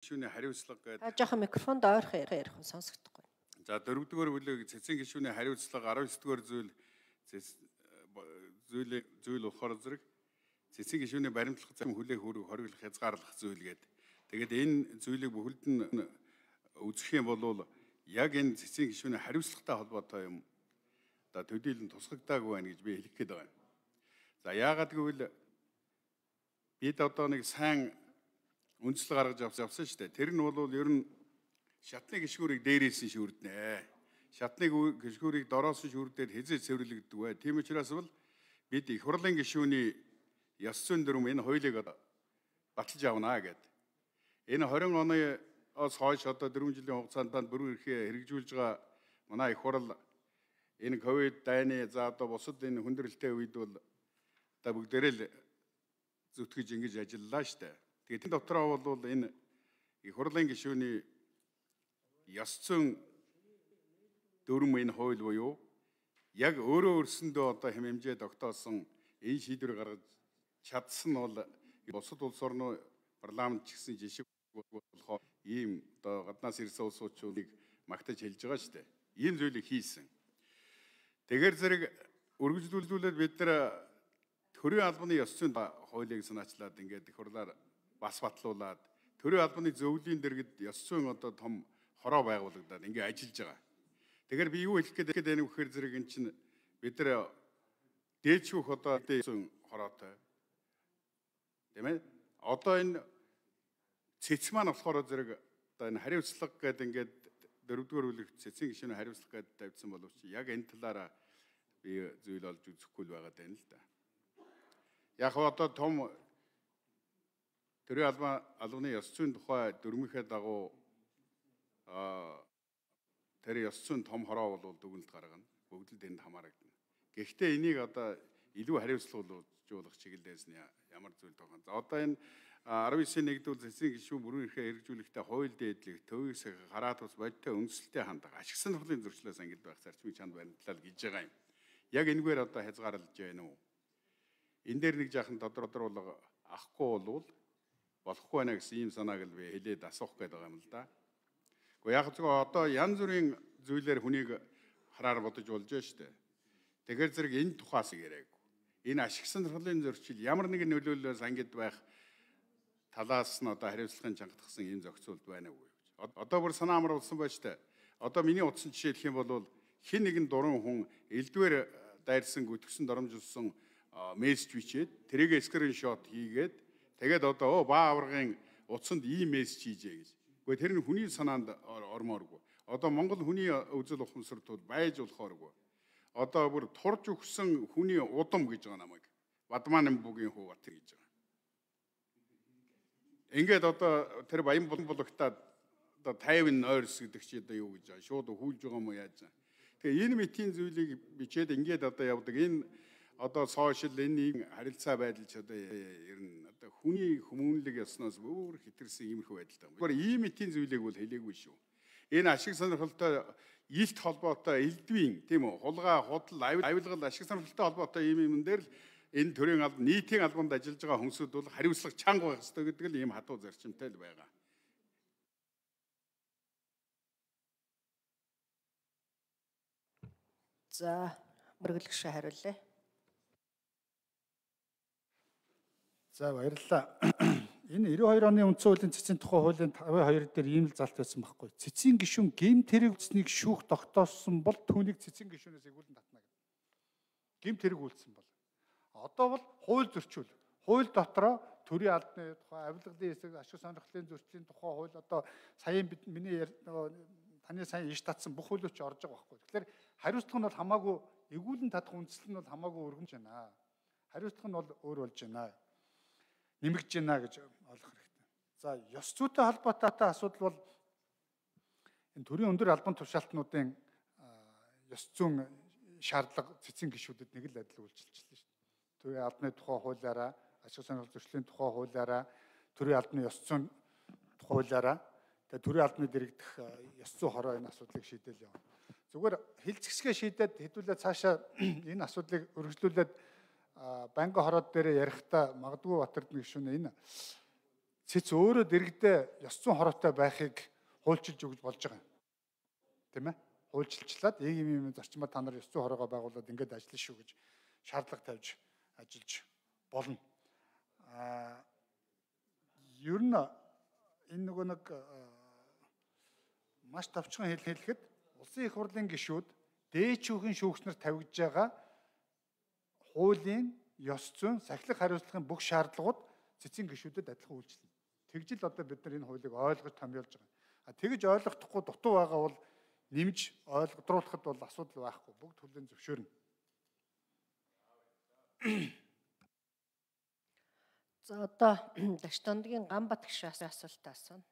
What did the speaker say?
гишүүний хариуцлага гэдэг. Та жоохон микрофонд ойрхон ярих нь сонсогдохгүй. За 4-р бүлэг цэцэн гишүүний хариуцлага 19-р зүйл болохоор зэрэг цэцэн гишүүний баримтлах зам хүлээх хөрөг хориглох хязгаарлах зүйл гэдэг. Тэгээд энэ зүйлийг бүхэлд нь үзэх юм бол яг энэ цэцэн гишүүний хариуцлагатай холбоотой юм. Одоо төдийлөн тусгагдаагүй байна гэж би хэлэх гээд байна. За яагаад гэвэл бид одоо нэг сайн үндслэг гаргаж авсан шүү дээ. Тэр нь бол ер нь шатны гишгүүрийг дээрээс нь шүрднэ. Шатны гишгүүрийг дороос нь шүрдээд хязээ цэвэрлэгддэг бай. Тийм учраас бол бид их хурлын гишүүний ёс зүйн дүрм энэ хуулийг баталж авнаа гэдэг. Энэ 20 оноос хойш одоо 4 жилийн хугацаанд бүрэн эрхээ хэрэгжүүлж байгаа манай их хурл энэ ковид дайны за одоо бусад энэ хүндрэлтэй үед бол одоо бүгдээрээ л зүтгэж ингэж ажиллалаа штэ. Тэгээд энэ дотроо бол энэ их хурлын гишүүний ёс зүйн дүрм энэ хууль буюу яг өөрөө өөрсөндөө одоо хэм хэмжээ тогтоосон энэ шийдвэр гаргаж чадсан бол бусад улс орны парламент ч гэсэн жишээ болохоор ийм одоо гаднаас ирсэн улсуудыг магтаж хэлж байгаа шүү дээ. Ийм зүйлийг хийсэн. Тэгэхээр зэрэг үргэлжлүүлээд бид нар төрийн албаны ёс зүйн хуулийг санаачлаад ингээд их хурлаар бас батлуулаад төрийн албаны зөвлөлийн дэргэд ёс зүйн одоо том хороо байгуулагдаад ингээд ажиллаж байгаа. Тэгэхээр би юу хэлэх гээд байна вэ гэхээр зэрэг эн чинь бид нар дээдшүүх одоо зүйн хороотой. Тийм ээ. Одоо энэ цэц маань болохоор зэрэг одоо энэ хариуцлага гэдэг ингээд 4-р бүлэг цэцэн гишүүний хариуцлага гэдэг тавьсан боловч яг энэ талаараа би зүйл олж үзэхгүй л байгаа даа л да. Яг одоо том төрийн албаны ёс зүйн тухай дүрмийнхээ дагуу тэр ёс зүйн том хороо бол дүгнэлт гаргана. Бүгд л тэнд хамаарагдана. Гэхдээ энийг одоо илүү хариуцлагажуулах чиглэлээс нь ямар зүйл тохиолдсон. За одоо энэ 19-1-р цэцэн гишүүн бүрэн эрхээ хэрэгжүүлэхдээ хууль дээдлэх, төвөөс хараат ус бодтой үндэслэлтэй хандаг, ашиг сонирхлын зөрчлөөс ангид байх зарчмыг чанд баримтлал гэж байгаа юм. Яг энэгээр одоо хязгаарлаж байна уу? Энэ дээр нэг жаахан тодорхойлол авахгүй бол болохгүй байна гэсэн ийм санааг л би хэлээд асуух гээд байгаа юм л да. Гэхдээ яг зөв одоо янз бүрийн зүйлээр хүнийг хараар бодож болж байна шүү дээ. Тэгэхээр зэрэг энэ тухаас яриаг. Энэ ашиг сонирхлын зөрчил ямар нэгэн нөлөөллөөс ангид байх талаас нь одоо хариуцлагын чангатгсан ийм зохицуулт байна уу гэж. Одоо бүр санаа амруулсан байж таа. Одоо миний утсан жишээ хэлэх юм бол хэн нэгэн дуран хүн элдвэр дайрсан гүтгсэн доромжилсан мессеж бичээд тэрийг скриншот хийгээд тэгээд одоо баа аваргын утсанд ийм мессеж хийжээ гэж. Гэхдээ тэр нь хүний санаанд ормооргүй. Одоо Монгол хүний үзэл ухамсартууд байж болохооргүй. Одоо бүр турж өгсөн хүний удам гэж байгаа намайг. Бадмаан бүгийн хуу бат гэж байгаа. Ингээд одоо тэр баян булгатаад одоо 50 ойрс гэдэг чи одоо юу гэж байгаа. Шууд хүлж байгаа юм уу яаж байгаа. Тэгээ энэ мэтийн зүйлийг бичээд ингээд одоо явдаг. Энэ одоо сошиал энэ харилцаа байдал ч одоо ер нь одоо хүний хүмүүнлэг ясноос өөр хэтэрсэн иймэрхүү байдалтай. Гэхдээ ийм мэтийн зүйлийг бол хэлээгүй шүү. Энэ ашиг сонирхолтой илт холбоотой элдвийн тийм үү хулгай худал авилгал ашиг сонирхолтой холбоотой ийм юм дээр л энэ төрийн нийтийн албанд ажиллаж байгаа хүмүүсд бол хариуцлага чанга байх ёстой гэдэг л ийм хатуу зарчимтай л байгаа. За мөрөглөгшөө хариулъя. За баярлалаа. Энэ 92 оны үндсэн хуулийн цэцэн тухай хуулийн 52 дээр ийм л залт байсан байхгүй. Цэцэн гишүүн гэмт хэрэг үйлснэг шүүх тогтоосон бол түүнийг цэцэн гишүүнээс эгүүлэн татна гэдэг. Гэмт хэрэг үйлсэн бол. Одоо бол хууль зөрчил. Хууль дотроо төрийн албаны тухай, авилгалын хэсэг, ашиг сонирхлын зөрчлийн тухай хууль одоо саяын миний таны сайн иш татсан бүх хуулиуч орж байгаа байхгүй. Тэгэхээр хариуцлага нь бол хамаагүй эгүүлэн татах үндэслэл нь бол хамаагүй өргөмж байна. Хариуцлага нь бол өөр болж байна. Нэмэгдэж байна гэж ойлгох хэрэгтэй. За, ёс зүйтэй холбоотой асуудал бол энэ төрийн өндөр албан тушаалтнуудын ёс зүйн шаардлага цэцэн гишүүдэд нэг л адил үйлчилчихлээ шүү дээ. Төрийн албаны тухай хуулиараа, ашиг сонирхол зөрчлийн тухай хуулиараа, төрийн албаны ёс зүйн тухай хуулиараа, тэгээ төрийн албаны дэрэгдэх ёс зүйн хороо энэ асуудлыг шийдээл явна. Зүгээр хилцэгсгээ шийдээд хэдүүлээ цаашаа энэ асуудлыг өргөжлүүлээд банкны хороод дээр ярихдаа магадгүй Батэрдэн гишүүн энэ цэц өөрөө дэрэгдээ ёс зүйн хороотой байхыг хуульчилж өгж болж байгаа юм. Тийм ээ? Хуульчилчлаад ийм зарчмаар та нар ёс зүйн хороогоо байгуулад ингэж ажиллана шүү гэж шаардлага тавьж ажиллаж болно. Ер нь энэ нөгөө нэг маш товчхон хэлэхэд улсын их хурлын гишүүд дээчүүхэн шүүгчнэр тавигдж байгаа хуулийн, ёс зүйн, сахилах хариуцлагын бүх шаардлагууд цэцгийн гишүүдэд адилхан үйлчлэнэ. Тэгжил одоо бид нар энэ хуулийг ойлгож томьёолж байгаа. Тэгж ойлгохдохгүй дутуу байгаа бол нэмж ойлгодруулахад бол асуудал байхгүй. Бүгд хүлээн зөвшөөрнө. За одоо Дашт Дондгийн Ганбат гишүүн асуултаа асууна.